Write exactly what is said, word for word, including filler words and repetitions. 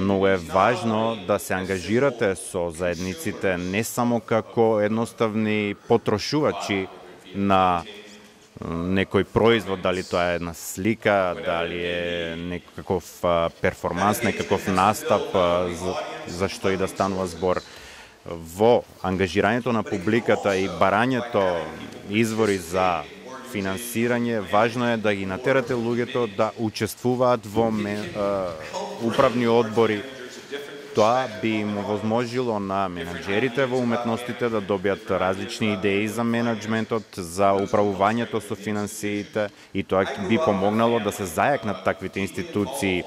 Многу е важно да се ангажирате со заедниците не само како едноставни потрошувачи на некој производ, дали тоа е една слика, дали е некаков перформанс, некаков настап, за, за што и да станува збор. Во ангажирањето на публиката и барањето извори за финансирање, важно е да ги натерате луѓето да учествуваат во мен, uh, управни одбори. Тоа би им овозможило на менаџерите во уметностите да добијат различни идеи за менаџментот, за управувањето со финансиите, и тоа би помогнало да се зајакнат таквите институции